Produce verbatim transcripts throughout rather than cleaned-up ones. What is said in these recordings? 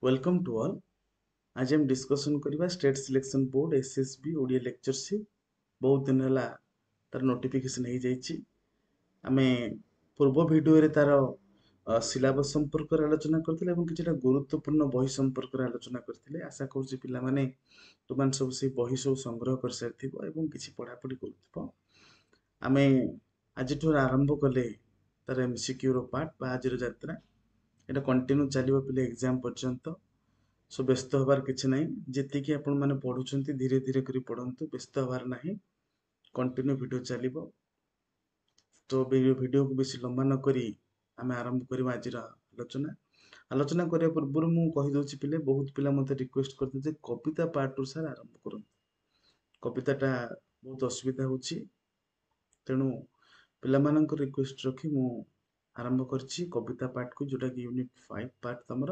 Welcome to all. ଆଜି ଆମେ discussion କରିବା state selection board S S B Odia lectureship. ବହୁତ ଦିନ ହେଲା ତାର ନୋଟିଫିକେସନ୍ ହେଇଯାଇଛି। ଆମେ ପୂର୍ବ ଭିଡ଼ିଓରେ ତାର ସିଲାବସ୍ ସମ୍ପର୍କରେ ଆଲୋଚନା କରିଥିଲେ ଏବଂ କିଛିଟା ଗୁରୁତ୍ୱପୂର୍ଣ୍ଣ ବହି ସମ୍ପର୍କରେ ଆଲୋଚନା କରିଥିଲେ। ଆଶା କରୁଛି ପିଲାମାନେ ତୁମମାନେ ସବୁ ସେଇ ବହି ସବୁ ସଂଗ୍ରହ କରିସାରିଥିବ ଏବଂ କିଛି ପଢ଼ାପଢ଼ି କରୁଥିବ। ଆମେ ଆଜିଠୁ ଆରମ୍ଭ କଲେ ତାର ଏମ୍ ସି କ୍ୟୁର ପାର୍ଟ ବା ଆଜିର ଯାତ୍ରା। ଏଇଟା କଣ୍ଟିନ୍ୟୁ ଚାଲିବ ପିଲା ଏକ୍ଜାମ୍ ପର୍ଯ୍ୟନ୍ତ। ସୋ ବ୍ୟସ୍ତ ହେବାର କିଛି ନାହିଁ। ଯେତିକି ଆପଣମାନେ ପଢ଼ୁଛନ୍ତି ଧୀରେ ଧୀରେ କରି ପଢ଼ନ୍ତୁ, ବ୍ୟସ୍ତ ହେବାର ନାହିଁ। କଣ୍ଟିନ୍ୟୁ ଭିଡ଼ିଓ ଚାଲିବ। ତ ଭିଡ଼ିଓକୁ ବେଶୀ ଲମ୍ବା ନ କରି ଆମେ ଆରମ୍ଭ କରିବା ଆଜିର ଆଲୋଚନା। ଆଲୋଚନା କରିବା ପୂର୍ବରୁ ମୁଁ କହିଦେଉଛି ପିଲେ, ବହୁତ ପିଲା ମୋତେ ରିକ୍ୱେଷ୍ଟ କରିଥିଲେ ଯେ କବିତା ପାର୍ଟରୁ ସାର୍ ଆରମ୍ଭ କରନ୍ତୁ, କବିତାଟା ବହୁତ ଅସୁବିଧା ହେଉଛି। ତେଣୁ ପିଲାମାନଙ୍କ ରିକ୍ୱେଷ୍ଟ ରଖି ମୁଁ ଆରମ୍ଭ କରିଛି କବିତା ପାର୍ଟକୁ, ଯେଉଁଟାକି ୟୁନିଟ୍ ଫାଇଭ୍ ପାର୍ଟ ତମର,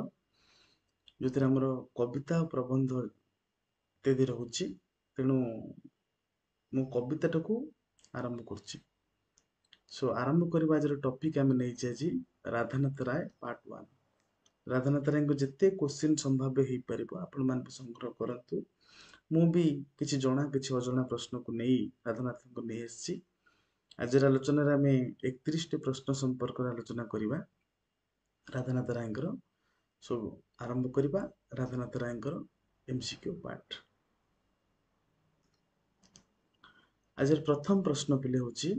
ଯେଉଁଥିରେ ଆମର କବିତା ପ୍ରବନ୍ଧ ଇତ୍ୟାଦି ରହୁଛି। ତେଣୁ ମୁଁ କବିତାଟାକୁ ଆରମ୍ଭ କରୁଛି। ସୋ ଆରମ୍ଭ କରିବା ଆଜିର ଟପିକ୍ ଆମେ ନେଇଛେ ଆଜି ରାଧାନାଥ ରାୟ ପାର୍ଟ ୱାନ୍। ରାଧାନାଥ ରାୟଙ୍କ ଯେତେ କୋଶ୍ଚିନ୍ ସମ୍ଭାବ୍ୟ ହେଇପାରିବ ଆପଣମାନେ ବି ସଂଗ୍ରହ କରନ୍ତୁ। ମୁଁ ବି କିଛି ଜଣା କିଛି ଅଜଣା ପ୍ରଶ୍ନକୁ ନେଇ ରାଧାନାଥଙ୍କୁ ନେଇ ଆସିଛି। ଆଜିର ଆଲୋଚନାରେ ଆମେ ଏକତିରିଶଟି ପ୍ରଶ୍ନ ସମ୍ପର୍କରେ ଆଲୋଚନା କରିବା ରାଧାନାଥ ରାୟଙ୍କର। ସୋ ଆରମ୍ଭ କରିବା ରାଧାନାଥ ରାୟଙ୍କର ଏମ୍ ସି କ୍ୟୁ ପାର୍ଟ। ଆଜିର ପ୍ରଥମ ପ୍ରଶ୍ନ ପିଲେ ହେଉଛି,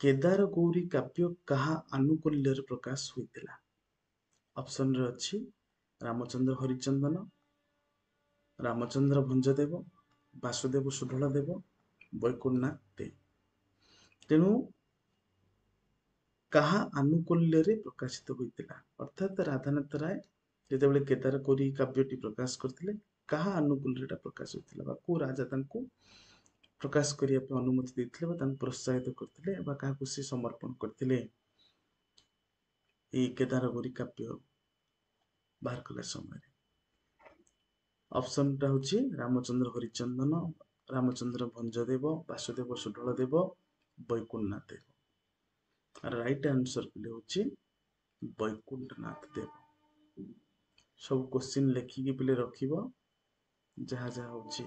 କେଦାର ଗୌରୀ କାବ୍ୟ କାହା ଆନୁକୂଲ୍ୟରେ ପ୍ରକାଶ ହୋଇଥିଲା? ଅପସନରେ ଅଛି ରାମଚନ୍ଦ୍ର ହରିଚନ୍ଦନ, ରାମଚନ୍ଦ୍ର ଭଞ୍ଜଦେବ, ବାସୁଦେବ ସୁଢଳ ଦେବ, ବୈକୁଣ୍ଠନାଥ ଦେ। ତେଣୁ କାହା ଆନୁକୂଲ୍ୟରେ ପ୍ରକାଶିତ ହୋଇଥିଲା? ଅର୍ଥାତ୍ ରାଧାନାଥ ରାୟ ଯେତେବେଳେ କେଦାର ଗୌରୀ କାବ୍ୟଟି ପ୍ରକାଶ କରିଥିଲେ, କାହା ଆନୁକୂଲ୍ୟରେ ଏଟା ପ୍ରକାଶ ହୋଇଥିଲା ବା କୋଉ ରାଜା ତାଙ୍କୁ ପ୍ରକାଶ କରିବା ପାଇଁ ଅନୁମତି ଦେଇଥିଲେ ବା ତାଙ୍କୁ ପ୍ରୋତ୍ସାହିତ କରିଥିଲେ ବା କାହାକୁ ସେ ସମର୍ପଣ କରିଥିଲେ ଏଇ କେଦାର ଗୌରୀ କାବ୍ୟ ବାହାର କଲା ସମୟରେ? ଅପସନଟା ହେଉଛି ରାମଚନ୍ଦ୍ର ହରିଚନ୍ଦନ, ରାମଚନ୍ଦ୍ର ଭଞ୍ଜଦେବ, ବାସୁଦେବ ସୁଢଳ ଦେବ, ବୈକୁଣ୍ଠନାଥ ଦେବ। ରାଇଟ୍ ଆନ୍ସର ପିଲେ ହେଉଛି ବୈକୁଣ୍ଠନାଥ ଦେବ। ସବୁ କୋଶ୍ଚିନ୍ ଲେଖିକି ପିଲେ ରଖିବ। ଯାହା ଯାହା ହେଉଛି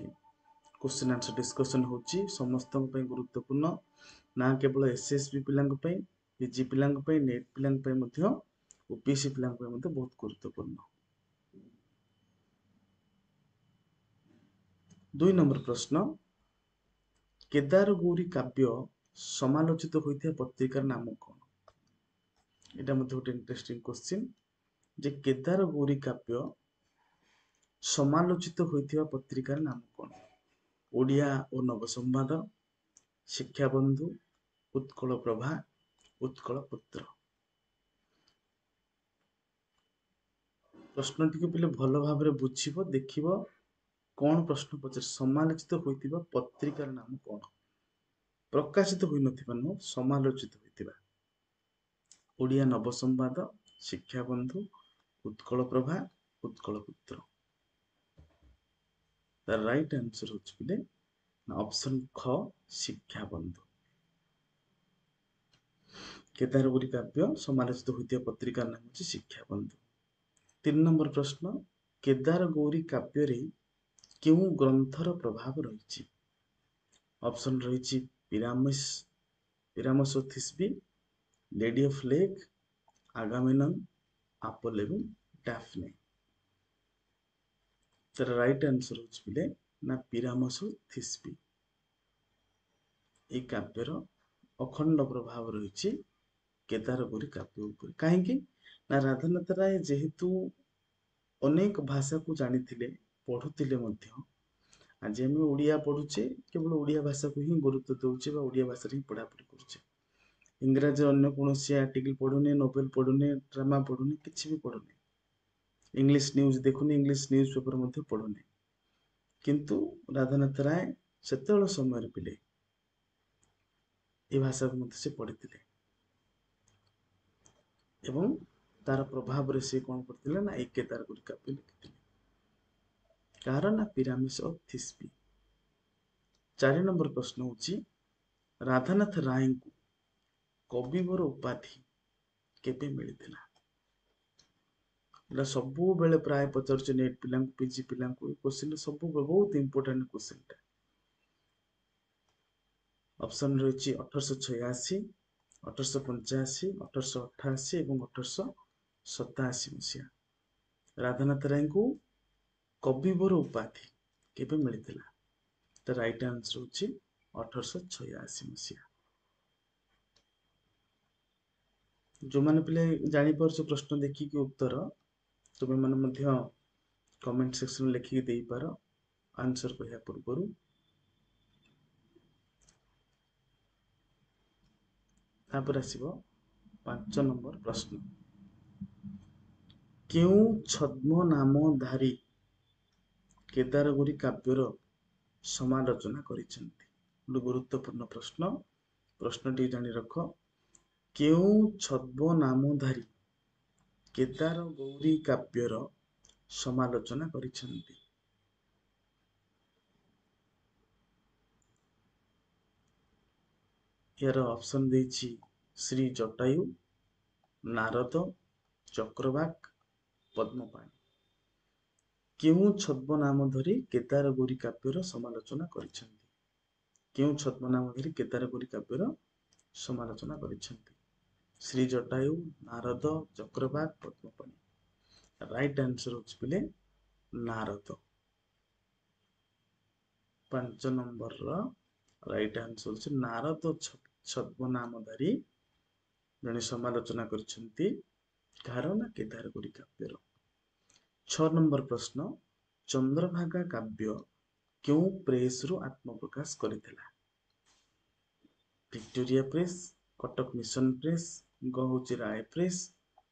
କୋଶ୍ଚିନ୍ ଆନ୍ସର ଡିସ୍କସନ୍ ହେଉଛି ସମସ୍ତଙ୍କ ପାଇଁ ଗୁରୁତ୍ୱପୂର୍ଣ୍ଣ, ନା କେବଳ ଏସ୍ ଏସ୍ ବି ପିଲାଙ୍କ ପାଇଁ, ପିଜି ପିଲାଙ୍କ ପାଇଁ, ନେଟ୍ ପିଲାଙ୍କ ପାଇଁ ମଧ୍ୟ, ଓପିଏସସି ପିଲାଙ୍କ ପାଇଁ ମଧ୍ୟ ବହୁତ ଗୁରୁତ୍ୱପୂର୍ଣ୍ଣ। ଦୁଇ ନମ୍ବର ପ୍ରଶ୍ନ, କେଦାର ଗୌରୀ କାବ୍ୟ ସମାଲୋଚିତ ହୋଇଥିବା ପତ୍ରିକାର ନାମ କ'ଣ? ଏଇଟା ମଧ୍ୟ ଗୋଟେ ଇଣ୍ଟରେଷ୍ଟିଂ କୋଶ୍ଚିନ୍ ଯେ କେଦାର ଗୌରୀ କାବ୍ୟ ସମାଲୋଚିତ ହୋଇଥିବା ପତ୍ରିକାର ନାମ କ'ଣ? ଓଡ଼ିଆ ଓ ନବସମ୍ବାଦ, ଶିକ୍ଷାବନ୍ଧୁ, ଉତ୍କଳ ପ୍ରଭା, ଉତ୍କଳ ପୁତ୍ର। ପ୍ରଶ୍ନଟିକୁ ପିଲେ ଭଲ ଭାବରେ ବୁଝିବ, ଦେଖିବ କ'ଣ ପ୍ରଶ୍ନ ପଚାରେ। ସମାଲୋଚିତ ହୋଇଥିବା ପତ୍ରିକାର ନାମ କ'ଣ? ପ୍ରକାଶିତ ହୋଇନଥିବା ନୁହଁ, ସମାଲୋଚିତ ହୋଇଥିବା। ଓଡ଼ିଆ ନବସମ୍ବାଦ, ଶିକ୍ଷାବନ୍ଧୁ, ଉତ୍କଳ ପ୍ରଭା, ଉତ୍କଳ ପୁତ୍ର। ତାର ରାଇଟ୍ ଆନ୍ସର ହେଉଛି ପିଲେ ଅପସନ୍ ଖ, ଶିକ୍ଷାବନ୍ଧୁ। କେଦାରଗୌରୀ କାବ୍ୟ ସମାଲୋଚିତ ହୋଇଥିବା ପତ୍ରିକାର ନାମ ହେଉଛି ଶିକ୍ଷାବନ୍ଧୁ। ତିନି ନମ୍ବର ପ୍ରଶ୍ନ, କେଦାର ଗୌରୀ କାବ୍ୟରେ କେଉଁ ଗ୍ରନ୍ଥର ପ୍ରଭାବ ରହିଛି? ଅପସନ୍ ରହିଛି Pyramus, Pyramus Thisbe, lady of lake, Agamemnon, Apollo ଏବଂ ଡାଫ୍ନେ। ତାର ରାଇଟ୍ ଆନ୍ସର ହେଉଛି ପିଲେ ନା ପିରାମସ ଥିସ୍ବି। ଏଇ କାବ୍ୟର ଅଖଣ୍ଡ ପ୍ରଭାବ ରହିଛି କେଦାରଗୌରୀ କାବ୍ୟ ଉପରେ। କାହିଁକି ନା ରାଧାନାଥ ରାୟ ଯେହେତୁ ଅନେକ ଭାଷାକୁ ଜାଣିଥିଲେ, ପଢ଼ୁଥିଲେ ମଧ୍ୟ। ଆଜି ଆମେ ଓଡ଼ିଆ ପଢ଼ୁଛେ, କେବଳ ଓଡ଼ିଆ ଭାଷାକୁ ହିଁ ଗୁରୁତ୍ୱ ଦେଉଛେ ବା ଓଡ଼ିଆ ଭାଷାରେ ହିଁ ପଢ଼ାପଢ଼ି କରୁଛେ। ଇଂରାଜୀ ଅନ୍ୟ କୌଣସି ଆର୍ଟିକଲ ପଢ଼ୁନେ, ନୋଭେଲ ପଢ଼ୁନେ, ଡ୍ରାମା ପଢ଼ୁନେ, କିଛି ବି ପଢ଼ୁନେ, ଇଂଲିଶ ନ୍ୟୁଜ୍ ଦେଖୁନି, ଇଂଲିଶ ନ୍ୟୁଜ୍ ପେପର ମଧ୍ୟ ପଢ଼ୁନି। କିନ୍ତୁ ରାଧାନାଥ ରାୟ ସେତେବେଳେ ସମୟରେ ପିଲେ ଏ ଭାଷାକୁ ମଧ୍ୟ ସେ ପଢ଼ିଥିଲେ ଏବଂ ତାର ପ୍ରଭାବରେ ସେ କ'ଣ କରିଥିଲେ ନା ଏଇ କେଦାରଗୌରୀ କାବ୍ୟ ଲେଖିଥିଲେ। କାହାର ନା ପିରାମିସ୍ ଅଫ୍ ଥିସ୍ବି। ଚାରି ନମ୍ବର ପ୍ରଶ୍ନ ହେଉଛି, ରାଧାନାଥ ରାୟଙ୍କୁ କବିବର ଉପାଧି କେବେ ମିଳିଥିଲା? ଏଇଟା ସବୁବେଳେ ପ୍ରାୟ ପଚାରୁଛି ନେଟ୍ ପିଲାଙ୍କୁ, ପିଜି ପିଲାଙ୍କୁ। ଏ କୋଶ୍ଚିନ୍ ସବୁ ବହୁତ ଇମ୍ପୋର୍ଟାଣ୍ଟ କୋଶ୍ଚିନ୍ଟା। ଅପସନ୍ ରହିଛି ଅଠରଶହ ଛୟାଅଶୀ, ଅଠରଶହ ପଞ୍ଚାଅଶୀ, ଅଠରଶହ ଅଠାଅଶୀ ଏବଂ ଅଠରଶହ ସତାଅଶୀ ମସିହା। ରାଧାନାଥ ରାୟଙ୍କୁ କବିବର ଉପାଧି କେବେ ମିଳିଥିଲା? ତ ରାଇଟ୍ ଆନ୍ସର ହେଉଛି ଅଠରଶହ ଛୟାଅଶୀ ମସିହା। ଯେଉଁମାନେ ପିଲା ଜାଣିପାରୁଛ ପ୍ରଶ୍ନ ଦେଖିକି ଉତ୍ତର, ତୁମେମାନେ ମଧ୍ୟ କମେଣ୍ଟ ସେକ୍ସନରେ ଲେଖିକି ଦେଇପାର ଆନ୍ସର କହିବା ପୂର୍ବରୁ। ତାପରେ ଆସିବ ପାଞ୍ଚ ନମ୍ବର ପ୍ରଶ୍ନ, କେଉଁ ଛଦ୍ମନାମଧାରୀ କେଦାରଗୌରୀ କାବ୍ୟର ସମାଲୋଚନା କରିଛନ୍ତି? ଗୋଟେ ଗୁରୁତ୍ୱପୂର୍ଣ୍ଣ ପ୍ରଶ୍ନ, ପ୍ରଶ୍ନଟି ଜାଣି ରଖ। କେଉଁ ଛଦ୍ମନାମଧାରୀ କେଦାରଗୌରୀ କାବ୍ୟର ସମାଲୋଚନା କରିଛନ୍ତି? ଏହାର ଅପସନ୍ ଦେଇଛି ଶ୍ରୀ ଜଟାୟୁ, ନାରଦ, ଚକ୍ରବାକ, ପଦ୍ମପାଣି। କେଉଁ ଛଦ୍ମନାମ ଧରି କେଦାରଗୌରୀ କାବ୍ୟର ସମାଲୋଚନା କରିଛନ୍ତି? କେଉଁ ଛଦ୍ମନାମ ଧରି କେଦାରଗୌରୀ କାବ୍ୟର ସମାଲୋଚନା କରିଛନ୍ତି? ଶ୍ରୀ ଜଟାୟୁ, ନାରଦ, ଚକ୍ରବାକ, ପଦ୍ମପାଣି। ରାଇଟ୍ ଆନ୍ସର ହେଉଛି ପିଲେ ନାରଦ। ପାଞ୍ଚ ନମ୍ବରର ରାଇଟ୍ ଆନ୍ସର ହେଉଛି ନାରଦ ଛଦ୍ମନାମଧାରୀ ଜଣେ ସମାଲୋଚନା କରିଛନ୍ତି କାହାର ନା କେଦାରଗୌରୀ କାବ୍ୟର। ଛଅ ନମ୍ବର ପ୍ରଶ୍ନ, ଚନ୍ଦ୍ରଭାଗା କାବ୍ୟ କେଉଁ ପ୍ରେସରୁ ଆତ୍ମପ୍ରକାଶ କରିଥିଲା? Victoria press, Cuttack mission press, ଗ ହେଉଛି ରାୟ ପ୍ରେସ୍,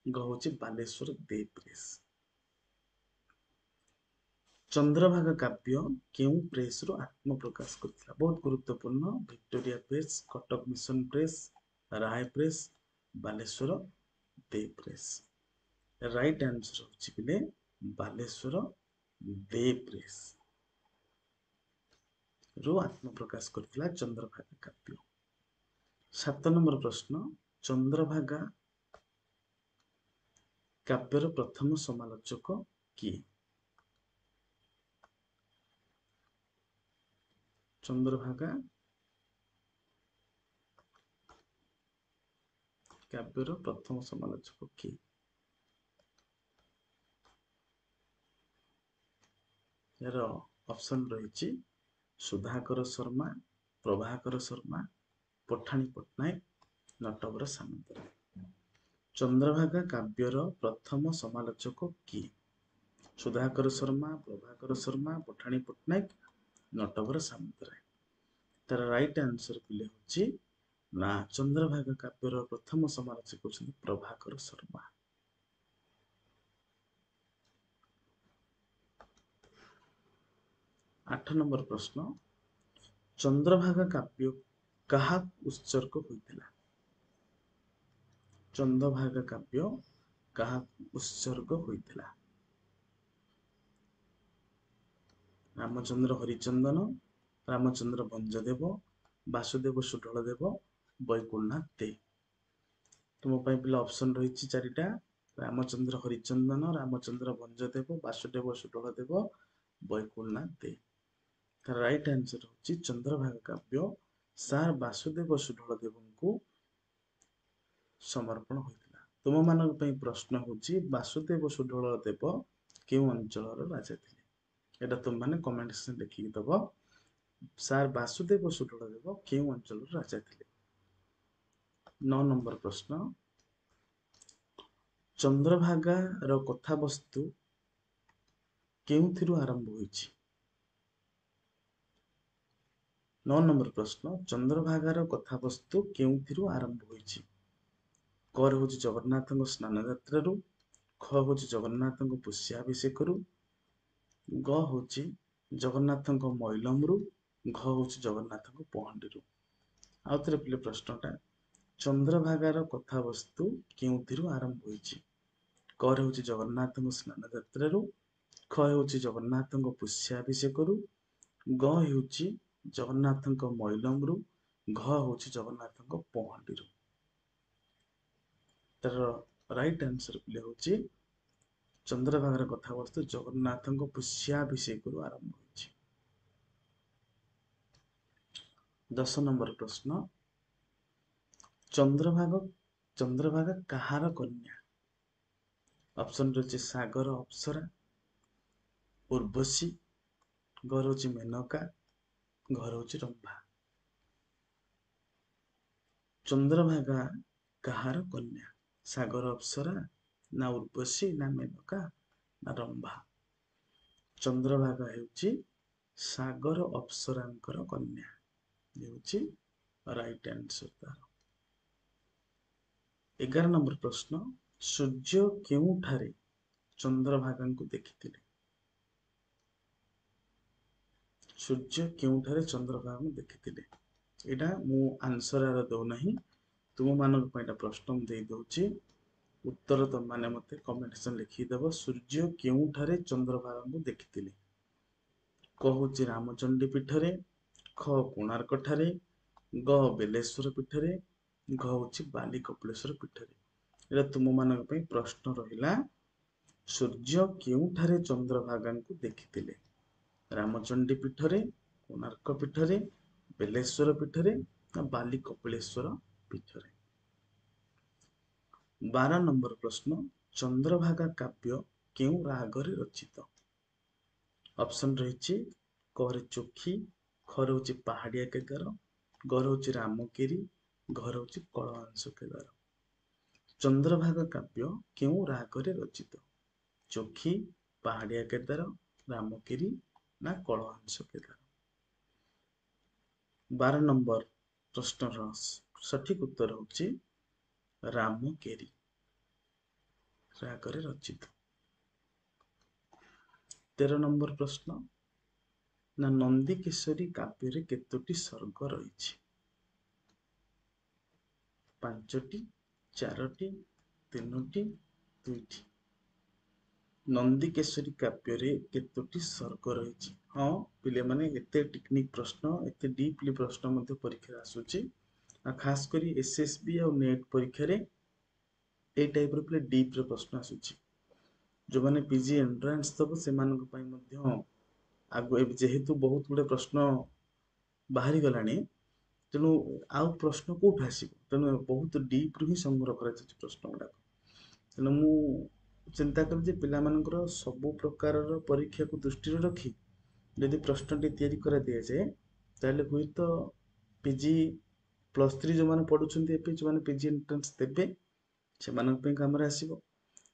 ଗ ହେଉଛି ବାଲେଶ୍ୱର ଦେ ପ୍ରେସ୍। ଚନ୍ଦ୍ରଭାଗା କାବ୍ୟ କେଉଁ ପ୍ରେସରୁ ଆତ୍ମପ୍ରକାଶ କରିଥିଲା? ବହୁତ ଗୁରୁତ୍ୱପୂର୍ଣ୍ଣ। Victoria press, Cuttack mission press, Ray press, Baleswar De press. Right answer ହେଉଛି ପିଲେ ବାଲେଶ୍ୱର ଦେ ପ୍ରେସ୍ ରୁ ଆତ୍ମପ୍ରକାଶ କରିଥିଲା ଚନ୍ଦ୍ରଭାଗା କାବ୍ୟ। ସାତ ନମ୍ବର ପ୍ରଶ୍ନ, ଚନ୍ଦ୍ରଭାଗା କାବ୍ୟର ପ୍ରଥମ ସମାଲୋଚକ କିଏ? ଚନ୍ଦ୍ରଭାଗା କାବ୍ୟର ପ୍ରଥମ ସମାଲୋଚକ କିଏ? ଏହାର ଅପସନ୍ ରହିଛି ସୁଧାକର ଶର୍ମା, ପ୍ରଭାକର ଶର୍ମା, ପଠାଣି ପଟ୍ଟନାୟକ, ନଟବର ସାମନ୍ତରାୟ। ଚନ୍ଦ୍ରଭାଗା କାବ୍ୟର ପ୍ରଥମ ସମାଲୋଚକ କିଏ? ସୁଧାକର ଶର୍ମା, ପ୍ରଭାକର ଶର୍ମା, ପଠାଣି ପଟ୍ଟନାୟକ, ନଟବର ସାମନ୍ତରାୟ। ତାର ରାଇଟ୍ ଆନ୍ସର ପିଲେ ହେଉଛି ନା ଚନ୍ଦ୍ରଭାଗା କାବ୍ୟର ପ୍ରଥମ ସମାଲୋଚକ ହେଉଛନ୍ତି ପ୍ରଭାକର ଶର୍ମା। ଆଠ ନମ୍ବର ପ୍ରଶ୍ନ, ଚନ୍ଦ୍ରଭାଗା କାବ୍ୟ କାହାକୁ ଉତ୍ସର୍ଗ ହୋଇଥିଲା? ଚନ୍ଦ୍ରଭାଗା କାବ୍ୟ କାହାକୁ ଉତ୍ସର୍ଗ ହୋଇଥିଲା? ରାମଚନ୍ଦ୍ର ହରିଚନ୍ଦନ, ରାମଚନ୍ଦ୍ର ଭଞ୍ଜଦେବ, ବାସୁଦେବ ସୁଢଳଦେବ, ବୈକୁଣ୍ଠନାଥ ଦେ। ତୁମ ପାଇଁ ପିଲା ଅପସନ୍ ରହିଛି ଚାରିଟା, ରାମଚନ୍ଦ୍ର ହରିଚନ୍ଦନ, ରାମଚନ୍ଦ୍ର ଭଞ୍ଜଦେବ, ବାସୁଦେବ ସୁଢଳଦେବ, ବୈକୁଣ୍ଠନାଥ ଦେ। ତାର ରାଇଟ୍ ଆନ୍ସର ହେଉଛି ଚନ୍ଦ୍ରଭାଗା କାବ୍ୟ ସାର୍ ବାସୁଦେବ ସୁଢଳଦେବଙ୍କୁ ସମର୍ପଣ ହୋଇଥିଲା। ତୁମମାନଙ୍କ ପାଇଁ ପ୍ରଶ୍ନ ହେଉଛି ବାସୁଦେବ ସୁଢଳଦେବ କେଉଁ ଅଞ୍ଚଳର ରାଜା ଥିଲେ? ଏଇଟା ତୁମମାନେ କମେଣ୍ଟ ସେକ୍ସନ ଲେଖିକି ଦବ। ସାର୍ ବାସୁଦେବ ସୁଢଳଦେବ କେଉଁ ଅଞ୍ଚଳର ରାଜା ଥିଲେ? ନଅ ନମ୍ବର ପ୍ରଶ୍ନ, ଚନ୍ଦ୍ରଭାଗାର କଥାବସ୍ତୁ କେଉଁଥିରୁ ଆରମ୍ଭ ହୋଇଛି? ନଅ ନମ୍ବର ପ୍ରଶ୍ନ, ଚନ୍ଦ୍ରଭାଗାର କଥାବସ୍ତୁ କେଉଁଥିରୁ ଆରମ୍ଭ ହୋଇଛି? କ ହେଉଛି ଜଗନ୍ନାଥଙ୍କ ସ୍ନାନ ଯାତ୍ରାରୁ, ଖ ହେଉଛି ଜଗନ୍ନାଥଙ୍କ ପୁଷ୍ୟାଭିଷେକରୁ, ଗ ହେଉଛି ଜଗନ୍ନାଥଙ୍କ ମଇଲମରୁ, ଘ ହେଉଛି ଜଗନ୍ନାଥଙ୍କ ପହଣ୍ଡିରୁ। ଆଉ ଥରେ ପିଲେ ପ୍ରଶ୍ନଟା, ଚନ୍ଦ୍ରଭାଗାର କଥାବସ୍ତୁ କେଉଁଥିରୁ ଆରମ୍ଭ ହୋଇଛି? କ ହେଉଛି ଜଗନ୍ନାଥଙ୍କ ସ୍ନାନ ଯାତ୍ରାରୁ, ଖ ହେଉଛି ଜଗନ୍ନାଥଙ୍କ ପୁଷ୍ୟାଭିଷେକରୁ, ଗ ହେଉଛି ଜଗନ୍ନାଥଙ୍କ ମଇଲମରୁ, ଘ ହେଉଛି ଜଗନ୍ନାଥଙ୍କ ପହଣ୍ଡିରୁ। ତାର ରାଇଟ୍ ଆନ୍ସର ପିଲେ ହେଉଛି ଚନ୍ଦ୍ରଭାଗାର କଥାବସ୍ତୁ ଜଗନ୍ନାଥଙ୍କ ପୁଷ୍ୟାଭିଷେକରୁ ଆରମ୍ଭ ହୋଇଛି। ଦଶ ନମ୍ବର ପ୍ରଶ୍ନ, ଚନ୍ଦ୍ରଭାଗ ଚନ୍ଦ୍ରଭାଗା କାହାର କନ୍ୟା? ଅପସନ୍ ରହିଛି ସାଗର ଅପ୍ସରା, ଉର୍ବଶୀ, ଘର ହେଉଛି ମେନକା, ଘର ହେଉଛି ରମ୍ଭା। ଚନ୍ଦ୍ରଭାଗା କାହାର କନ୍ୟା? ସାଗର ଅପ୍ସରା ନା ଉର୍ବଶୀ ନା ମେନକା ନା ରମ୍ଭା? ଚନ୍ଦ୍ରଭାଗା ହେଉଛି ସାଗର ଅପ୍ସରାଙ୍କର କନ୍ୟା, ହେଉଛି ରାଇଟ୍ ଆନ୍ସର ତାର। ଏଗାର ନମ୍ବର ପ୍ରଶ୍ନ, ସୂର୍ଯ୍ୟ କେଉଁଠାରେ ଚନ୍ଦ୍ରଭାଗାଙ୍କୁ ଦେଖିଥିଲେ? ସୂର୍ଯ୍ୟ କେଉଁଠାରେ ଚନ୍ଦ୍ରଭାଗାଙ୍କୁ ଦେଖିଥିଲେ? ଏଇଟା ମୁଁ ଆନ୍ସର ଆର ଦେଉନାହିଁ, ତୁମମାନଙ୍କ ପାଇଁ ଏଇଟା ପ୍ରଶ୍ନ ମୁଁ ଦେଇଦେଉଛି। ଉତ୍ତର ତମମାନେ ମୋତେ କମେଣ୍ଟ ସେକ୍ସନ ଲେଖିକି ଦେବ। ସୂର୍ଯ୍ୟ କେଉଁଠାରେ ଚନ୍ଦ୍ରଭାଗାଙ୍କୁ ଦେଖିଥିଲେ? କ ହେଉଛି ରାମଚଣ୍ଡୀ ପୀଠରେ, ଖ କୋଣାର୍କ ଠାରେ, ଗ ବେଲେଶ୍ୱର ପୀଠରେ, ଘ ହେଉଛି ବାଲି କପିଳେଶ୍ୱର ପୀଠରେ। ଏଇଟା ତୁମମାନଙ୍କ ପାଇଁ ପ୍ରଶ୍ନ ରହିଲା, ସୂର୍ଯ୍ୟ କେଉଁଠାରେ ଚନ୍ଦ୍ରଭାଗାଙ୍କୁ ଦେଖିଥିଲେ? ରାମଚଣ୍ଡୀ ପୀଠରେ, କୋଣାର୍କ ପୀଠରେ, ବେଲେଶ୍ୱର ପୀଠରେ ନା ବାଲି କପିଳେଶ୍ୱର ପୀଠରେ? ବାର ନମ୍ବର ପ୍ରଶ୍ନ, ଚନ୍ଦ୍ରଭାଗା କାବ୍ୟ କେଉଁ ରାଗରେ ରଚିତ? ଅପସନ୍ ରହିଛି କରେ ଚୋଖୀ, ଖ ହେଉଛି ପାହାଡ଼ିଆ କେଦାର, ଗ ହେଉଛି ରାମଗିରି, ଘ ହେଉଛି କଳହଂସ କେଦାର। ଚନ୍ଦ୍ରଭାଗା କାବ୍ୟ କେଉଁ ରାଗରେ ରଚିତ? ଚୋଖୀ, ପାହାଡ଼ିଆ କେଦାର, ରାମଗିରି ନା କଳହଂସ କେଦାର? ବାର ନମ୍ବର ପ୍ରଶ୍ନର ସଠିକ ଉତ୍ତର ହେଉଛି ରାମକେରି ରାଗରେ ରଚିତ। ତେର ନମ୍ବର ପ୍ରଶ୍ନ ନା, ନନ୍ଦିକେଶ୍ୱରୀ କାବ୍ୟରେ କେତୋଟି ସର୍ଗ ରହିଛି? ପାଞ୍ଚଟି, ଚାରୋଟି, ତିନୋଟି, ଦୁଇଟି। ନନ୍ଦିକେଶ୍ୱରୀ କାବ୍ୟରେ କେତୋଟି ସର୍ଗ ରହିଛି? ହଁ ପିଲାମାନେ, ଏତେ ଟେକ୍ନିକ ପ୍ରଶ୍ନ, ଏତେ ଡିପଲି ପ୍ରଶ୍ନ ମଧ୍ୟ ପରୀକ୍ଷାରେ ଆସୁଛି। ଆଉ ଖାସ କରି ଏସ୍ ଏସ୍ ବି ଆଉ ନେଟ୍ ପରୀକ୍ଷାରେ ଏଇ ଟାଇପ୍ର ପିଲା ଡିପ୍ର ପ୍ରଶ୍ନ ଆସୁଛି। ଯେଉଁମାନେ ପି ଜି ଏଣ୍ଟ୍ରାନ୍ସ ଦେବ ସେମାନଙ୍କ ପାଇଁ ମଧ୍ୟ ଆଗ ଯେହେତୁ ବହୁତ ଗୁଡ଼ିଏ ପ୍ରଶ୍ନ ବାହାରିଗଲାଣି, ତେଣୁ ଆଉ ପ୍ରଶ୍ନ କେଉଁଠୁ ଆସିବ? ତେଣୁ ବହୁତ ଡିପ୍ରୁ ହିଁ ସଂଗ୍ରହ କରାଯାଉଛି ପ୍ରଶ୍ନ ଗୁଡ଼ାକ। ତେଣୁ ମୁଁ ଚିନ୍ତା କଲି ଯେ ପିଲାମାନଙ୍କର ସବୁ ପ୍ରକାରର ପରୀକ୍ଷାକୁ ଦୃଷ୍ଟିରେ ରଖି ଯଦି ପ୍ରଶ୍ନଟି ତିଆରି କରାଦିଆଯାଏ, ତାହେଲେ ହୁଏତ ପି ଜି ପ୍ଲସ୍ ଥ୍ରୀ ଯେଉଁମାନେ ପଢ଼ୁଛନ୍ତି ଏବେ, ଯେଉଁମାନେ ପି ଜି ଏଣ୍ଟ୍ରାନ୍ସ ଦେବେ ସେମାନଙ୍କ ପାଇଁ କାମରେ ଆସିବ,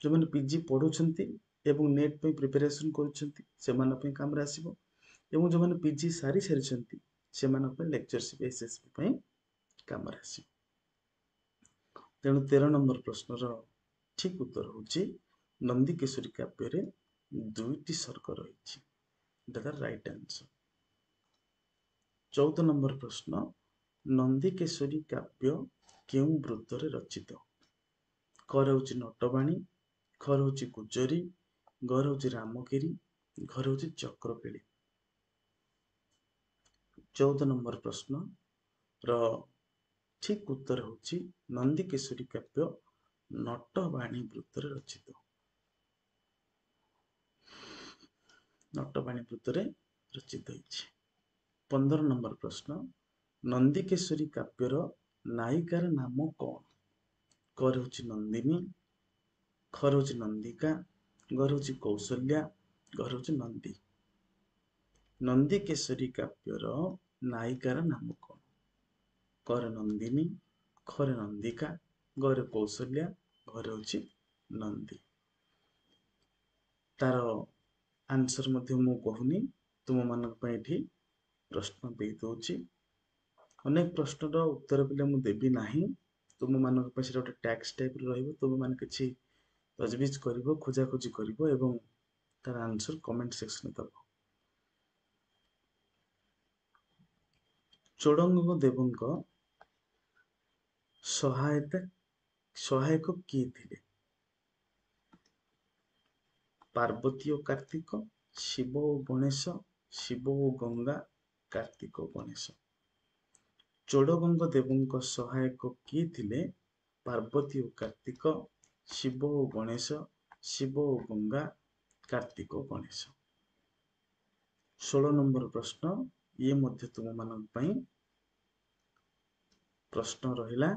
ଯେଉଁମାନେ ପି ଜି ପଢ଼ୁଛନ୍ତି ଏବଂ ନେଟ୍ ପାଇଁ ପ୍ରିପାରେସନ୍ କରୁଛନ୍ତି ସେମାନଙ୍କ ପାଇଁ କାମରେ ଆସିବ, ଏବଂ ଯେଉଁମାନେ ପି ଜି ସାରି ସାରିଛନ୍ତି ସେମାନଙ୍କ ପାଇଁ ଲେକ୍ଚରସିପ୍ ଏସ୍ ଏସ୍ ବି ପାଇଁ କାମରେ ଆସିବ। ତେଣୁ ତେର ନମ୍ବର ପ୍ରଶ୍ନର ଠିକ୍ ଉତ୍ତର ହେଉଛି ନନ୍ଦିକେଶ୍ୱରୀ କାବ୍ୟରେ ଦୁଇଟି ସର୍ଗ ରହିଛି। ଏଇଟା ତାର ରାଇଟ୍ ଆନ୍ସର। ଚଉଦ ନମ୍ବର ପ୍ରଶ୍ନ, ନନ୍ଦିକେଶ୍ୱରୀ କାବ୍ୟ କେଉଁ ବୃତ୍ତରେ ରଚିତ? କ ହେଉଛି ନଟବାଣୀ, ଖ ହେଉଛି ଗୁଜରୀ, ଗ ହେଉଛି ରାମଗିରି, ଘ ହେଉଛି ଚକ୍ରକେଳି। ଚଉଦ ନମ୍ବର ପ୍ରଶ୍ନର ଠିକ୍ ଉତ୍ତର ହେଉଛି ନନ୍ଦିକେଶ୍ୱରୀ କାବ୍ୟ ନଟବାଣୀ ବୃତ୍ତରେ ରଚିତ। ନଟବାଣୀ ବୃତ୍ତରେ ରଚିତ ହେଇଛି। ପନ୍ଦର ନମ୍ବର ପ୍ରଶ୍ନ, ନନ୍ଦିକେଶ୍ୱରୀ କାବ୍ୟର ନାୟିକାର ନାମ କଣ? କ ହେଉଛି ନନ୍ଦିନୀ, ଖ ହେଉଛି ନନ୍ଦିକା, ଗ ହେଉଛି କୌଶଲ୍ୟା, ଘ ହେଉଛି ନନ୍ଦୀ। ନନ୍ଦିକେଶ୍ୱରୀ କାବ୍ୟର ନାୟିକାର ନାମ କଣ? କରେ ନନ୍ଦିନୀ, ଖରେ ନନ୍ଦିକା, ଗରେ କୌଶଲ୍ୟା, ଘରେ ହେଉଛି ନନ୍ଦୀ। ତାର ଆନ୍ସର ମଧ୍ୟ ମୁଁ କହୁନି, ତୁମମାନଙ୍କ ପାଇଁ ଏଠି ପ୍ରଶ୍ନ ଦେଇ ଦଉଛି। ଅନେକ ପ୍ରଶ୍ନର ଉତ୍ତର ପିଲା ମୁଁ ଦେବି ନାହିଁ, ତୁମମାନଙ୍କ ପାଇଁ ସେଟା ଗୋଟେ ଟ୍ୟାକ୍ସ ଟାଇପ୍ର ରହିବ। ତୁମେମାନେ କିଛି ତଜବିଜ କରିବ, ଖୋଜାଖୋଜି କରିବ ଏବଂ ତାର ଆନ୍ସର କମେଣ୍ଟ ସେକ୍ସନରେ ଦେବ। ଚୋଡ଼ଗଙ୍ଗ ଦେବଙ୍କ ସହାୟତା ସହାୟକ କିଏ ଥିଲେ? ପାର୍ବତୀ ଓ କାର୍ତ୍ତିକ, ଶିବ ଓ ଗଣେଶ, ଶିବ ଓ ଗଙ୍ଗା, କାର୍ତ୍ତିକ ଓ ଗଣେଶ। ଚୋଡ଼ଗଙ୍ଗ ଦେବଙ୍କ ସହାୟକ କିଏ ଥିଲେ? ପାର୍ବତୀ ଓ କାର୍ତ୍ତିକ, ଶିବ ଓ ଗଣେଶ, ଶିବ ଓ ଗଙ୍ଗା, କାର୍ତ୍ତିକ ଗଣେଶ। ଷୋହଳ ନମ୍ବର ପ୍ରଶ୍ନ, ଇଏ ମଧ୍ୟ ତୁମମାନଙ୍କ ପାଇଁ ପ୍ରଶ୍ନ ରହିଲା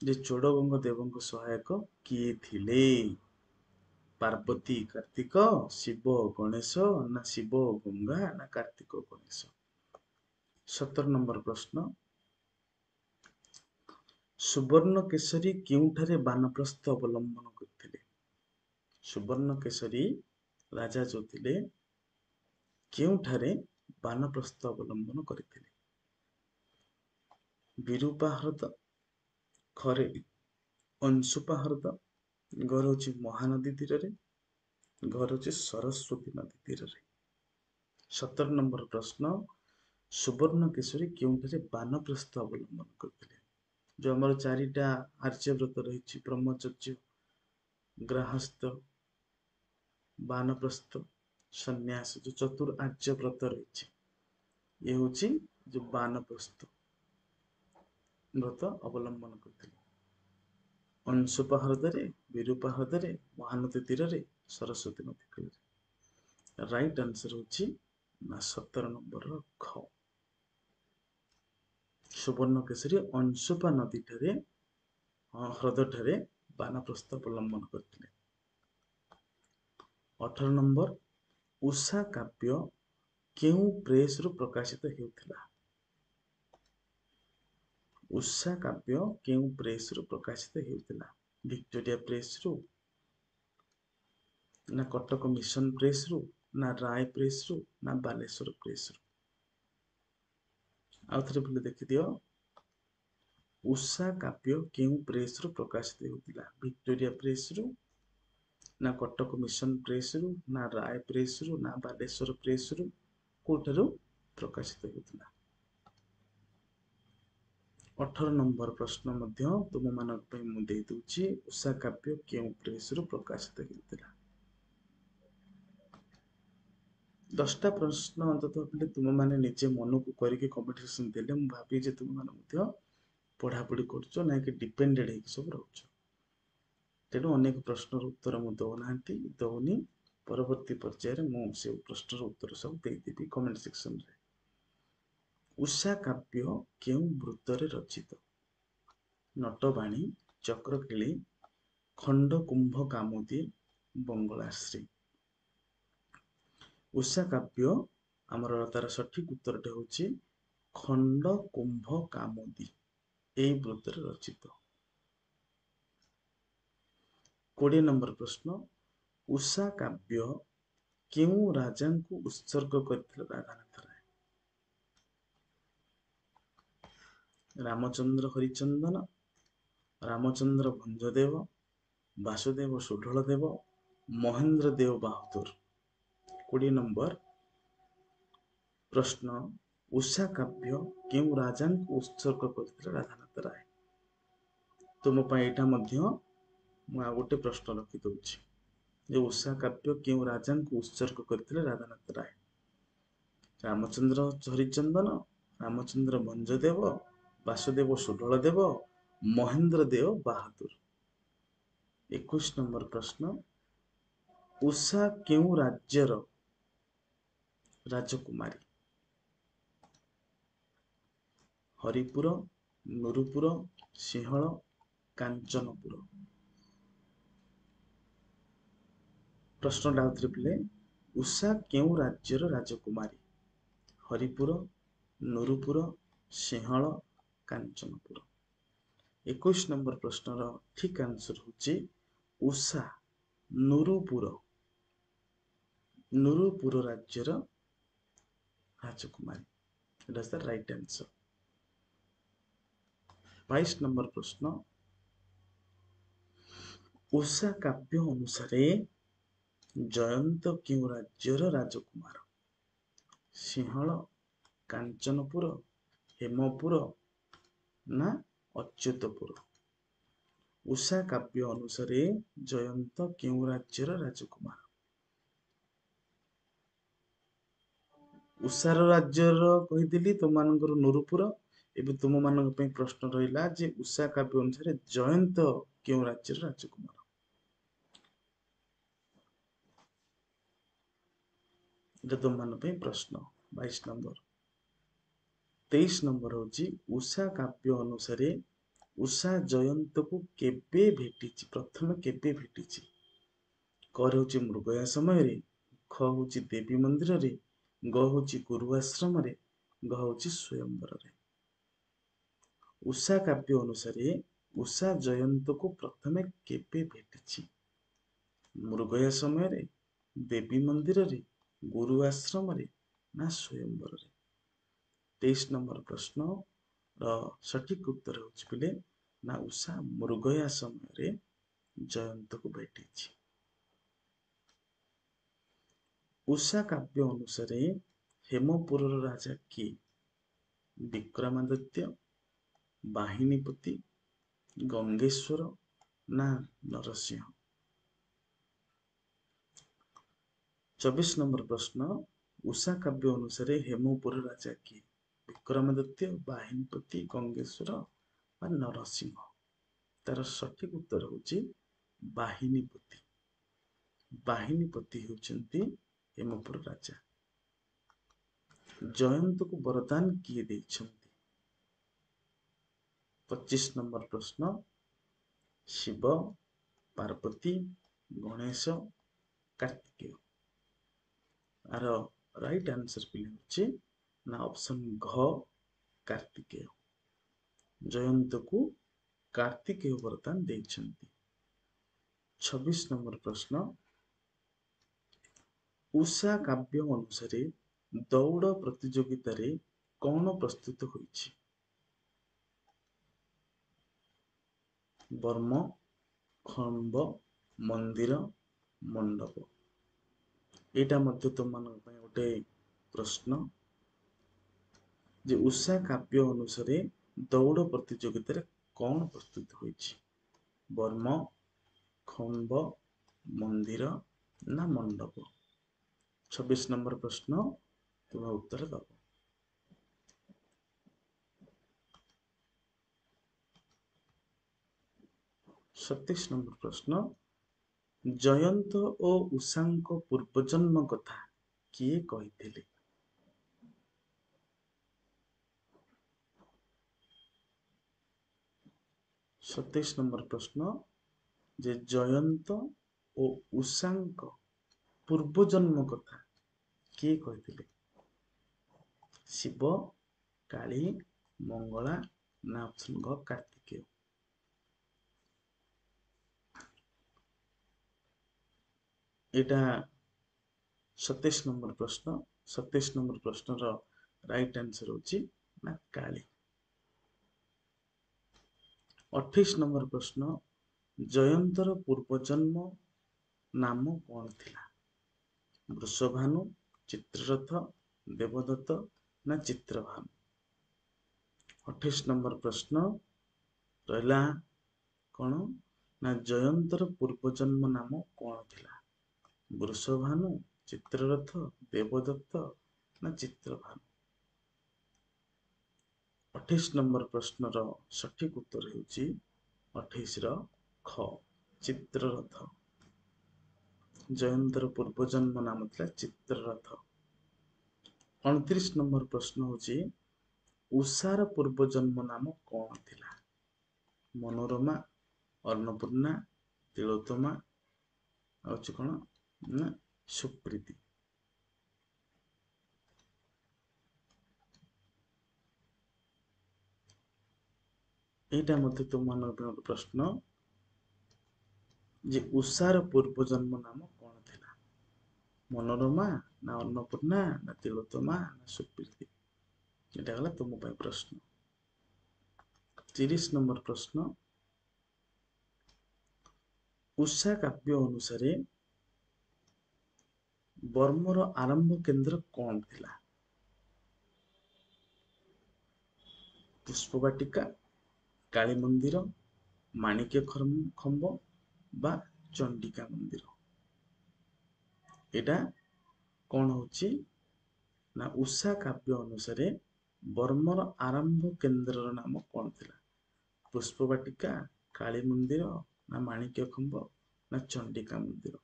ଯେ ଚୋଡ଼ଗଙ୍ଗ ଦେବଙ୍କ ସହାୟକ କିଏ ଥିଲେ? ପାର୍ବତୀ କାର୍ତ୍ତିକ, ଶିବ ଗଣେଶ, ନା ଶିବ ଗଙ୍ଗା, ନା କାର୍ତ୍ତିକ ଗଣେଶ? ସତର ନମ୍ବର ପ୍ରଶ୍ନ, ସୁବର୍ଣ୍ଣ କେଶରୀ କେଉଁଠାରେ ବାନପ୍ରସ୍ଥ ଅବଲମ୍ବନ କରିଥିଲେ? ସୁବର୍ଣ୍ଣ କେଶରୀ ରାଜା ଯୋଉ ଥିଲେ କେଉଁଠାରେ ବାନପ୍ରସ୍ଥ ଅବଲମ୍ବନ କରିଥିଲେ? ବିରୂପା ହ୍ରଦ, ଖରେ ଅଂଶୁପା ହ୍ରଦ, ଘର ହେଉଛି ମହାନଦୀ ତୀରରେ, ଘର ହେଉଛି ସରସ୍ୱତୀ ନଦୀ ତୀରରେ। ସତର ନମ୍ବର ପ୍ରଶ୍ନ, ସୁବର୍ଣ୍ଣ କେଶରୀ କେଉଁଠାରେ ବାନପ୍ରସ୍ଥ ଅବଲମ୍ବନ କରିଥିଲେ? ଯୋଉ ଆମର ଚାରିଟା ଆର୍ଯ୍ୟବ୍ରତ ରହିଛି, ବ୍ରହ୍ମଚର୍ଯ୍ୟ, ଗ୍ରାହସ୍ଥ, ବାନପ୍ରସ୍ଥ, ସନ୍ନ୍ୟାସ, ଯୋଉ ଚତୁର ଆର୍ଯ୍ୟବ୍ରତ ରହିଛି, ଇଏ ହେଉଛି ଯୋଉ ବାନପ୍ରସ୍ଥ ବ୍ରତ ଅବଲମ୍ବନ କରିଥିଲେ। ଅଂଶୁପା ହ୍ରଦରେ, ବିରୂପା ହ୍ରଦରେ, ମହାନଦୀ ତୀରରେ, ସରସ୍ୱତୀ ନଦୀ କୂଳରେ। ରାଇଟ୍ ଆନ୍ସର ହେଉଛି ନା ସତର ନମ୍ବରର ଖ। ସୁବର୍ଣ୍ଣ କେଶରୀ ଅଂଶୁପା ନଦୀଠାରେ ହ୍ରଦଠାରେ ବାନପ୍ରସ୍ଥ ଅବଲମ୍ବନ କରିଥିଲେ। ଅଠର ନମ୍ବର, ଉଷା କାବ୍ୟ କେଉଁ ପ୍ରେସରୁ ପ୍ରକାଶିତ ହେଉଥିଲା? ଉଷା କାବ୍ୟ କେଉଁ ପ୍ରେସରୁ ପ୍ରକାଶିତ ହେଉଥିଲା? ଭିକ୍ଟୋରିଆ ପ୍ରେସରୁ, ନା କଟକ ମିଶନ ପ୍ରେସରୁ, ନା ରାୟ ପ୍ରେସରୁ, ନା ବାଲେଶ୍ୱର ପ୍ରେସରୁ? ଆଉ ଥରେ ପିଲେ ଦେଖିଦିଅ, ଉଷା କାବ୍ୟ କେଉଁ ପ୍ରେସରୁ ପ୍ରକାଶିତ ହେଉଥିଲା? ଭିକ୍ଟୋରିଆ ପ୍ରେସରୁ, ନା କଟକ ମିଶନ ପ୍ରେସରୁ, ନା ରାୟ ପ୍ରେସରୁ, ନା ବାଲେଶ୍ୱର ପ୍ରେସରୁ, କୋଉଠାରୁ ପ୍ରକାଶିତ ହେଉଥିଲା? ଅଠର ନମ୍ବର ପ୍ରଶ୍ନ ମଧ୍ୟ ତୁମମାନଙ୍କ ପାଇଁ ମୁଁ ଦେଇଦେଉଛି, ଉଷା କାବ୍ୟ କେଉଁ ପ୍ରେସରୁ ପ୍ରକାଶିତ ହେଉଥିଲା? ଦଶଟା ପ୍ରଶ୍ନ ଅନ୍ତତଃ ପିଲେ ତୁମେମାନେ ନିଜେ ମନକୁ କରିକି କମେଣ୍ଟ ସେକ୍ସନ ଦେଲେ ମୁଁ ଭାବି ଯେ ତୁମେମାନେ ମଧ୍ୟ ପଢ଼ାପଢ଼ି କରୁଛ, ନା କି ଡିପେଣ୍ଡେଡ଼ ହେଇକି ସବୁ ରହୁଛ। ତେଣୁ ଅନେକ ପ୍ରଶ୍ନର ଉତ୍ତର ମୁଁ ଦଉନାହାନ୍ତି ଦଉନି, ପରବର୍ତ୍ତୀ ପର୍ଯ୍ୟାୟରେ ମୁଁ ସେ ପ୍ରଶ୍ନର ଉତ୍ତର ସବୁ ଦେଇଦେବି କମେଣ୍ଟ ସେକ୍ସନରେ। ଉଷା କାବ୍ୟ କେଉଁ ବୃତ୍ତରେ ରଚିତ? ନଟବାଣୀ, ଚକ୍ରକିଳି, ଖଣ୍ଡ କୁମ୍ଭ କାମୋଦି, ବଙ୍ଗଳାଶ୍ରୀ। ଉଷା କାବ୍ୟ ଆମର ତାର ସଠିକ ଉତ୍ତରଟା ହେଉଛି ଖଣ୍ଡ କୁମ୍ଭ କାମୋଦି, ଏଇ ବୃତ୍ତରେ ରଚିତ। କୋଡ଼ିଏ ନମ୍ବର ପ୍ରଶ୍ନ, ଉଷା କାବ୍ୟ କେଉଁ ରାଜାଙ୍କୁ ଉତ୍ସର୍ଗ କରିଥିଲେ ରାଧାନାଥ ରାୟ? ରାମଚନ୍ଦ୍ର ହରିଚନ୍ଦନ, ରାମଚନ୍ଦ୍ର ଭଞ୍ଜଦେବ, ବାସୁଦେବ ସୁଢଳ ଦେବ, ମହେନ୍ଦ୍ର ଦେବ ବାହାଦୁର। କୋଡ଼ିଏ ନମ୍ବର ପ୍ରଶ୍ନ, ଉଷା କାବ୍ୟ କେଉଁ ରାଜାଙ୍କୁ ଉତ୍ସର୍ଗ କରିଥିଲେ ରାଧାନାଥ ରାୟ? ତୁମ ପାଇଁ ଏଇଟା ମଧ୍ୟ ମୁଁ ଆଉ ଗୋଟେ ପ୍ରଶ୍ନ ରଖିଦଉଛି ଯେ ଉଷା କାବ୍ୟ କେଉଁ ରାଜାଙ୍କୁ ଉତ୍ସର୍ଗ କରିଥିଲେ ରାଧାନାଥ ରାୟ? ରାମଚନ୍ଦ୍ର ହରିଚନ୍ଦନ, ରାମଚନ୍ଦ୍ର ଭଞ୍ଜଦେବ, ବାସୁଦେବ ସୁଢଳ ଦେବ, ମହେନ୍ଦ୍ର ଦେବ ବାହାଦୁର। ଏକୋଇଶ ନମ୍ବର ପ୍ରଶ୍ନ, ଉଷା କେଉଁ ରାଜ୍ୟର ରାଜକୁମାରୀ? ହରିପୁର, ନୁରୁପୁର, ସିଂହଳ, କାଞ୍ଚନପୁର। ପ୍ରଶ୍ନଟା ଆଉଥରେ ପିଲେ, ଉଷା କେଉଁ ରାଜ୍ୟର ରାଜକୁମାରୀ? ହରିପୁର, ନୁରୁପୁର, ସିଂହଳ, କାଞ୍ଚନପୁର। ଏକୋଇଶ ନମ୍ବର ପ୍ରଶ୍ନର ଠିକ ଆନ୍ସର ହେଉଛି ଉଷା ନୁରୁପୁର, ନୁରୁପୁର ରାଜ୍ୟର ରାଜକୁମାରୀ। ଏଟା the right answer. ବାଇଶ ନମ୍ବର ପ୍ରଶ୍ନ, ଉଷା କାବ୍ୟ ଅନୁସାରେ ଜୟନ୍ତ କେଉଁ ରାଜ୍ୟର ରାଜକୁମାର? ସିଂହଳ, କାଞ୍ଚନପୁର, ହେମପୁର, ନା ଅଚ୍ୟୁତପୁର? ଉଷା କାବ୍ୟ ଅନୁସାରେ ଜୟନ୍ତ କେଉଁ ରାଜ୍ୟର ରାଜକୁମାର? ଉଷାର ରାଜ୍ୟର କହିଥିଲି ତୁମମାନଙ୍କର ନୁରୁପୁର। ଏବେ ତୁମମାନଙ୍କ ପାଇଁ ପ୍ରଶ୍ନ ରହିଲା ଯେ ଉଷା କାବ୍ୟ ଅନୁସାରେ ଜୟନ୍ତ କେଉଁ ରାଜ୍ୟର ରାଜକୁମାର? ଏଇଟା ତୁମମାନଙ୍କ ପାଇଁ ପ୍ରଶ୍ନ ବାଇଶ ନମ୍ବର। ତେଇଶ ନମ୍ବର ହେଉଛି ଉଷା କାବ୍ୟ ଅନୁସାରେ ଉଷା ଜୟନ୍ତକୁ କେବେ ଭେଟିଛି? ପ୍ରଥମେ କେବେ ଭେଟିଛି? କ ହେଉଛି ମୃଗୟା ସମୟରେ, ଖ ହେଉଛି ଦେବୀ ମନ୍ଦିରରେ, ଗ ହେଉଛି ଗୁରୁ ଆଶ୍ରମରେ, ଗ ହେଉଛି ସ୍ୱୟଂବରରେ। ଉଷା କାବ୍ୟ ଅନୁସାରେ ଉଷା ଜୟନ୍ତକୁ ପ୍ରଥମେ କେବେ ଭେଟିଛି? ମୃଗୟା ସମୟରେ, ଦେବୀ ମନ୍ଦିରରେ, ଗୁରୁ ଆଶ୍ରମରେ ନା ସ୍ୱୟଂବରରେ? ତେଇଶ ନମ୍ବର ପ୍ରଶ୍ନର ସଠିକ ଉତ୍ତର ହେଉଛି ପିଲେ ନା ଉଷା ମୃଗୟା ସମୟରେ ଜୟନ୍ତକୁ ଭେଟିଛି। ଉଷା କାବ୍ୟ ଅନୁସାରେ ହେମପୁରର ରାଜା କିଏ? ବିକ୍ରମାଦିତ୍ୟ, ବାହିନୀପତି, ଗଙ୍ଗେଶ୍ୱର ନା ନରସିଂହ? ଚବିଶ ନମ୍ବର ପ୍ରଶ୍ନ, ଉଷା କାବ୍ୟ ଅନୁସାରେ ହେମପୁର ରାଜା କିଏ? ବିକ୍ରମାଦିତ୍ୟ, ବାହିନୀପତି, ଗଙ୍ଗେଶ୍ୱର ବା ନରସିଂହ? ତାର ସଠିକ ଉତ୍ତର ହେଉଛି ବାହିନୀପତି। ବାହିନୀପତି ହେଉଛନ୍ତି ହେମପୁର ରାଜା। ଜୟନ୍ତକୁ ବରଦାନ କିଏ ଦେଇଛନ୍ତି? ପଚିଶ ନମ୍ବର ପ୍ରଶ୍ନ, Shiva, Parvati, Ganesh, Kartikeya. Are right answer ପିଲା ହେଉଛି ନା ଅପସନ୍ ଘ, କାର୍ତ୍ତିକେୟ। ଜୟନ୍ତକୁ କାର୍ତ୍ତିକେୟ ବରଦାନ ଦେଇଛନ୍ତି। ଛବିଶ ନମ୍ବର ପ୍ରଶ୍ନ, ଉଷା କାବ୍ୟ ଅନୁସାରେ ଦୌଡ଼ ପ୍ରତିଯୋଗିତାରେ କଣ ପ୍ରସ୍ତୁତ ହୋଇଛି? ବର୍ମ, ଖମ୍ବ, ମନ୍ଦିର, ମଣ୍ଡପ। ଏଇଟା ମଧ୍ୟ ତୁମମାନଙ୍କ ପାଇଁ ଗୋଟେ ପ୍ରଶ୍ନ ଯେ ଉଷା କାବ୍ୟ ଅନୁସାରେ ଦୌଡ଼ ପ୍ରତିଯୋଗିତାରେ କଣ ପ୍ରସ୍ତୁତ ହୋଇଛି? ବର୍ମ, ଖମ୍ବ, ମନ୍ଦିର ନା ମଣ୍ଡପ? ଛବିଶ ନମ୍ବର ପ୍ରଶ୍ନ ତୁମେ ଉତ୍ତର ଦବ। ସତେଇଶ ନମ୍ବର ପ୍ରଶ୍ନ, ଜୟନ୍ତ ଓ ଉଷାଙ୍କ ପୂର୍ବଜନ୍ମ କଥା କିଏ କହିଥିଲେ? ସତେଇଶ ନମ୍ବର ପ୍ରଶ୍ନ ଯେ ଜୟନ୍ତ ଓ ଉଷାଙ୍କ ପୂର୍ବଜନ୍ମ କଥା କିଏ କହିଥିଲେ? ଶିବ, କାଳୀ, ମଙ୍ଗଳା ନା ଅପସନ୍ ଘ, କାର୍ତ୍ତିକେୟ? ଏଇଟା ସତେଇଶ ନମ୍ବର ପ୍ରଶ୍ନ। ସତେଇଶ ନମ୍ବର ପ୍ରଶ୍ନର ରାଇଟ୍ ଆନ୍ସର ହେଉଛି ନା କାଳୀ। ଅଠେଇଶ ନମ୍ବର ପ୍ରଶ୍ନ, ଜୟନ୍ତର ପୂର୍ବଜନ୍ମ ନାମ କଣ ଥିଲା? ବୃଷଭାନୁ, ଚିତ୍ରରଥ, ଦେବଦତ୍ତ ନା ଚିତ୍ରଭାନୁ? ଅଠେଇଶ ନମ୍ବର ପ୍ରଶ୍ନ ରହିଲା କଣ ନା ଜୟନ୍ତର ପୂର୍ବଜନ୍ମ ନାମ କଣ ଥିଲା? ବୃଷଭାନୁ, ଚିତ୍ରରଥ, ଦେବଦତ୍ତ ନା ଚିତ୍ରଭାନୁ? ଅଠେଇଶ ନମ୍ବର ପ୍ରଶ୍ନର ସଠିକ ଉତ୍ତର ହେଉଛି ଅଠେଇଶର ଖ, ଚିତ୍ରରଥ। ଜୟନ୍ତର ପୂର୍ବଜନ୍ମ ନାମ ଥିଲା ଚିତ୍ରରଥ। ଅଣତିରିଶ ନମ୍ବର ପ୍ରଶ୍ନ ହେଉଛି ଉଷାର ପୂର୍ବଜନ୍ମ ନାମ କଣ ଥିଲା? ମନୋରମା, ଅନ୍ନପୂର୍ଣ୍ଣା, ତିଳୋତ୍ତମା, ଆଉ ଅଛି କଣ ନା ସୁପ୍ରୀତି। ଏଇଟା ମଧ୍ୟ ତୁମମାନଙ୍କ ପାଇଁ ଗୋଟେ ପ୍ରଶ୍ନ ଯେ ଉଷାର ପୂର୍ବଜନ୍ମ ନାମ କଣ ଥିଲା? ମନୋରମା ନା ଅନ୍ନପୂର୍ଣ୍ଣା ନା ତିଳୋତ୍ତମା ନା ସୁପ୍ରୀତି? ଏଇଟା ହେଲା ତୁମ ପାଇଁ ପ୍ରଶ୍ନ। ତିରିଶ ନମ୍ବର ପ୍ରଶ୍ନ, ଉଷା କାବ୍ୟ ଅନୁସାରେ ବର୍ମର ଆରମ୍ଭ କେନ୍ଦ୍ର କଣ ଥିଲା? ପୁଷ୍ପବାଟିକା, କାଳୀ ମନ୍ଦିର, ମାଣିକ୍ୟ ଖମ୍ବ ବା ଚଣ୍ଡିକା ମନ୍ଦିର? ଏଇଟା କଣ ହଉଛି ନା ଉଷା କାବ୍ୟ ଅନୁସାରେ ବର୍ମର ଆରମ୍ଭ କେନ୍ଦ୍ରର ନାମ କଣ ଥିଲା? ପୁଷ୍ପବାଟିକା, କାଳୀ ମନ୍ଦିର ନା ମାଣିକ୍ୟ ଖମ୍ବ ନା ଚଣ୍ଡିକା ମନ୍ଦିର?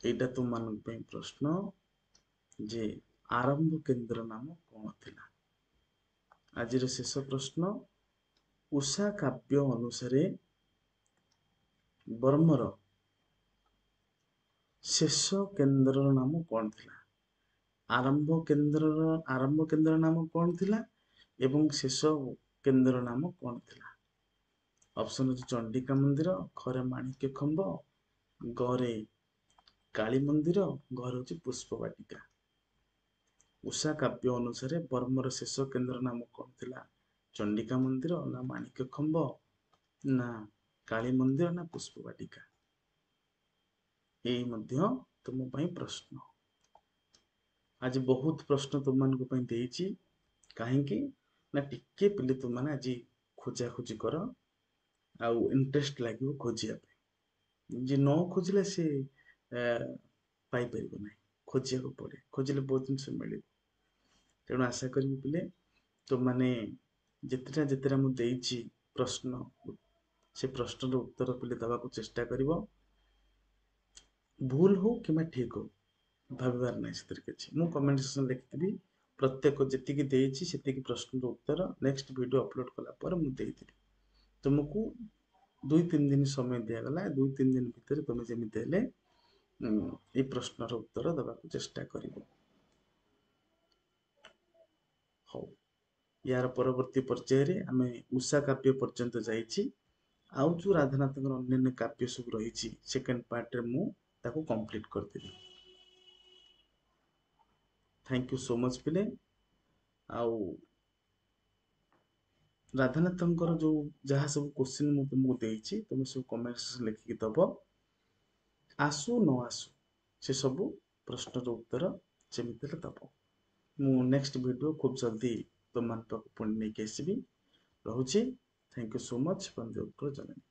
ଏଇଟା ତୁମମାନଙ୍କ ପାଇଁ ପ୍ରଶ୍ନ। ଯେ ଆରମ୍ଭ କେନ୍ଦ୍ର ନାମ କ'ଣ ଥିଲା? ଆଜିର ଶେଷ ପ୍ରଶ୍ନ, ଉଷା କାବ୍ୟ ଅନୁସାରେ ବର୍ମର ଶେଷ କେନ୍ଦ୍ରର ନାମ କ'ଣ ଥିଲା? ଆରମ୍ଭ କେନ୍ଦ୍ରର ଆରମ୍ଭ କେନ୍ଦ୍ର ନାମ କ'ଣ ଥିଲା ଏବଂ ଶେଷ କେନ୍ଦ୍ର ନାମ କ'ଣ ଥିଲା? ଅପସନ୍ ଅଛି ଚଣ୍ଡିକା ମନ୍ଦିର, ଖରେ ମାଣିକ୍ୟ ଖମ୍ବ, ଗରେ କାଳୀ ମନ୍ଦିର, ଘରେ ହେଉଛି ପୁଷ୍ପବାଟିକା। ଉଷା କାବ୍ୟ ଅନୁସାରେ ବର୍ମର ଶେଷ କେନ୍ଦ୍ର ନାମ କ'ଣ ଥିଲା? ଚଣ୍ଡିକା ମନ୍ଦିର ନା ମାଣିକ୍ୟ ଖମ୍ବ ନା କାଳୀ ମନ୍ଦିର ନା ପୁଷ୍ପବାଟିକା? ଏଇ ମଧ୍ୟ ତୁମ ପାଇଁ ପ୍ରଶ୍ନ। ଆଜି ବହୁତ ପ୍ରଶ୍ନ ତୁମମାନଙ୍କ ପାଇଁ ଦେଇଛି, କାହିଁକି ନା ଟିକେ ପିଲେ ତୁମମାନେ ଆଜି ଖୋଜାଖୋଜି କର ଆଉ ଇଣ୍ଟରେଷ୍ଟ ଲାଗିବ ଖୋଜିବା ପାଇଁ। ଯିଏ ନ ଖୋଜିଲେ ସେ ପାଇପାରିବ ନାହିଁ। ଖୋଜିବାକୁ ପଡ଼େ, ଖୋଜିଲେ ବହୁତ ଜିନିଷ ମିଳିବ। ତେଣୁ ଆଶା କରିବି ପିଲେ ତୁମମାନେ ଯେତେଟା ଯେତେଟା ମୁଁ ଦେଇଛି ପ୍ରଶ୍ନ, ସେ ପ୍ରଶ୍ନର ଉତ୍ତର ପିଲେ ଦେବାକୁ ଚେଷ୍ଟା କରିବ। ଭୁଲ ହଉ କିମ୍ବା ଠିକ ହଉ, ଭାବିବାର ନାହିଁ ସେଥିରେ କିଛି। ମୁଁ କମେଣ୍ଟ ସେକ୍ସନ୍ ଲେଖିଥିବି ପ୍ରତ୍ୟେକ ଯେତିକି ଦେଇଛି ସେତିକି ପ୍ରଶ୍ନର ଉତ୍ତର ନେକ୍ସଟ ଭିଡ଼ିଓ ଅପଲୋଡ଼ କଲା ପରେ ମୁଁ ଦେଇଦେବି। ତୁମକୁ ଦୁଇ ତିନି ଦିନ ସମୟ ଦିଆଗଲା, ଦୁଇ ତିନି ଦିନ ଭିତରେ ତୁମେ ଯେମିତି ହେଲେ ଏଇ ପ୍ରଶ୍ନର ଉତ୍ତର ଦେବାକୁ ଚେଷ୍ଟା କରିବ। ହଉ, ୟାର ପରବର୍ତ୍ତୀ ପର୍ଯ୍ୟାୟରେ ଆମେ ଉଷା କାବ୍ୟ ପର୍ଯ୍ୟନ୍ତ ଯାଇଛି। ଆଉ ଯେଉଁ ରାଧାନାଥଙ୍କର ଅନ୍ୟାନ୍ୟ କାବ୍ୟ ସବୁ ରହିଛି, ସେକେଣ୍ଡ ପାର୍ଟରେ ମୁଁ ତାକୁ କମ୍ପ୍ଲିଟ୍ କରିଦେବି। Thank you so much ପିଲେ। ଆଉ ରାଧାନାଥଙ୍କର ଯେଉଁ ଯାହା ସବୁ କୋଶ୍ଚିନ୍ ମୁଁ ତୁମକୁ ଦେଇଛି, ତୁମେ ସବୁ କମେଣ୍ଟ ସେକ୍ସନ୍ ଲେଖିକି ଦେବ। ଆସୁ ନ ଆସୁ ସେସବୁ ପ୍ରଶ୍ନର ଉତ୍ତର ଯେମିତି ହେଲେ ଦେବ। ମୁଁ ନେକ୍ସଟ ଭିଡ଼ିଓ ଖୁବ୍ ଜଲ୍ଦି ତୁମମାନଙ୍କ ପାଖକୁ ପୁଣି ନେଇକି ଆସିବି। ରହୁଛି, thank you so much. Vande Utkal Janani.